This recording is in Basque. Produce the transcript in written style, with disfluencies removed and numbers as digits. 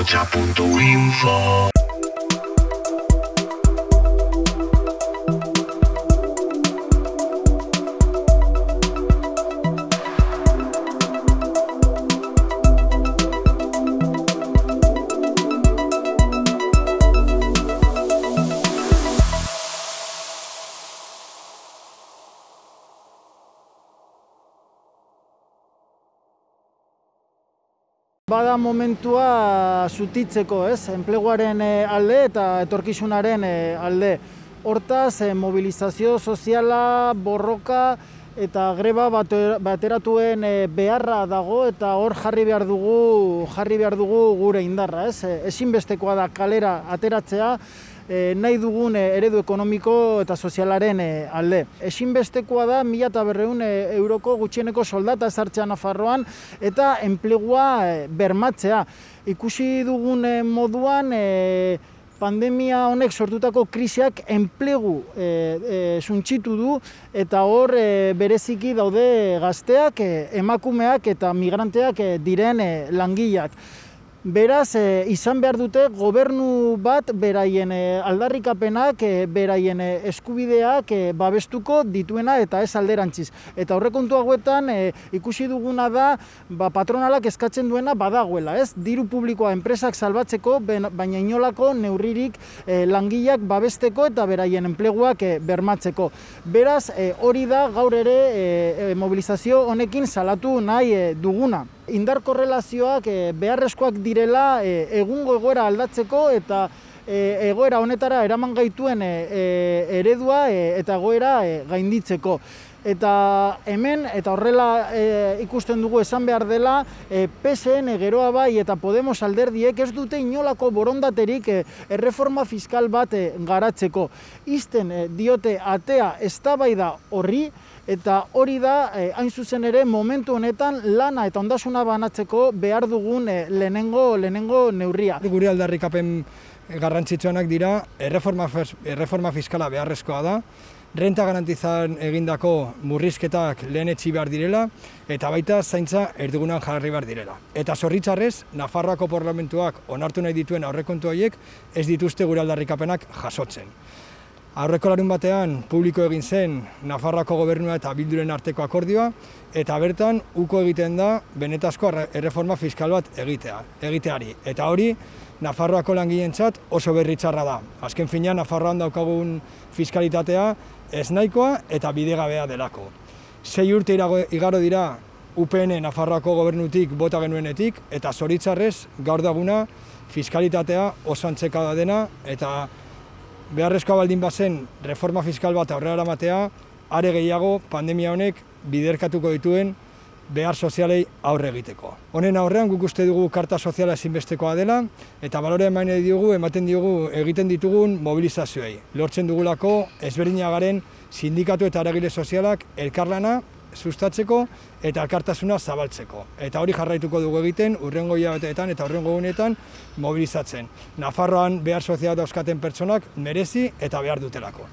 Hocha.info. Bada momentua zutitzeko, enpleguaren alde eta etorkizunaren alde. Hortaz, mobilizazio soziala, borroka eta greba bateratuen beharra dago eta hor jarri behar dugu gure indarra. Ezinbestekoa da kalera ateratzea, nahi dugun eredu ekonomiko eta sozialaren alde. Ezinbestekoa da 1.200 euroko gutxieneko soldata ezartzea Nafarroan eta enplegua bermatzea. Ikusi dugun moduan pandemia honek sortutako krisiak enplegu suntsitu du eta hor bereziki daude gazteak, emakumeak eta migranteak diren langileak. Beraz, izan behar dute gobernu bat beraien aldarrikapenak, beraien eskubideak babestuko dituena eta ez alderantziz. Eta aurrekontu hauetan ikusi duguna da patronalak eskatzen duena badagoela, diru publikoa enpresak salbatzeko, baina inolako neurririk langileak babesteko eta beraien enpleguak bermatzeko. Beraz, hori da gaur ere mobilizazio honekin salatu nahi duguna. Indar korrelazioak beharrezkoak direla egungo egoera aldatzeko eta egoera honetara eraman gaituen eredua eta egoera gainditzeko. Eta hemen, eta horrela ikusten dugu esan behar dela, PSN geroa bai eta Podemos alderdiek ez dute inolako borondaterik erreforma fiskal bat garatzeko. Izten diote atea eztabaida horri, eta hori da, hain zuzen ere, momentu honetan lana eta ondasuna banatzeko behar dugun lehenengo neurria. Gure aldarrikapen garrantzitsuenak dira, erreforma fiskala beharrezkoa da, renta garantizan egindako murrizketak lehenetsi behar direla, eta baita zaintza erdigunan jarri behar direla. Eta zorritzarrez, Nafarroako parlamentuak onartu nahi dituen aurrekontu horiek ez dituzte gure aldarrikapenak jasotzen. Aurreko larun batean publiko egin zen Nafarroako gobernua eta Bilduren arteko akordioa, eta bertan uko egiten da benetazko erreforma fiskal bat egiteari. Eta hori Nafarroako langileentzat oso berritzarra da. Azken finean Nafarroan daukagun fiskalitatea ez nahikoa eta bidegabea delako. 6 urte igaro dira UPN Nafarroako gobernutik bota genuenetik, eta zoritzarrez gaur daguna fiskalitatea oso antzeka dena, eta beharrezkoa baldin bazen reforma fiskal bat aurrera eramatea, are gehiago pandemia honek biderkatuko dituen behar sozialei aurre egiteko. Honen aurrean guk uste dugu karta soziala ezinbestekoa dela, eta balore ematen diogu egiten ditugun mobilizazioei. Lortzen dugulako ezberdina garen sindikatu eta eragile sozialak elkarlana sustatzeko eta elkartasuna zabaltzeko. Eta hori jarraituko dugu egiten hurrengo hilabeteetan eta hurrengo egunetan mobilizatzen. Nafarroan behar soziala dauzkaten pertsonak merezi eta behar dutelako.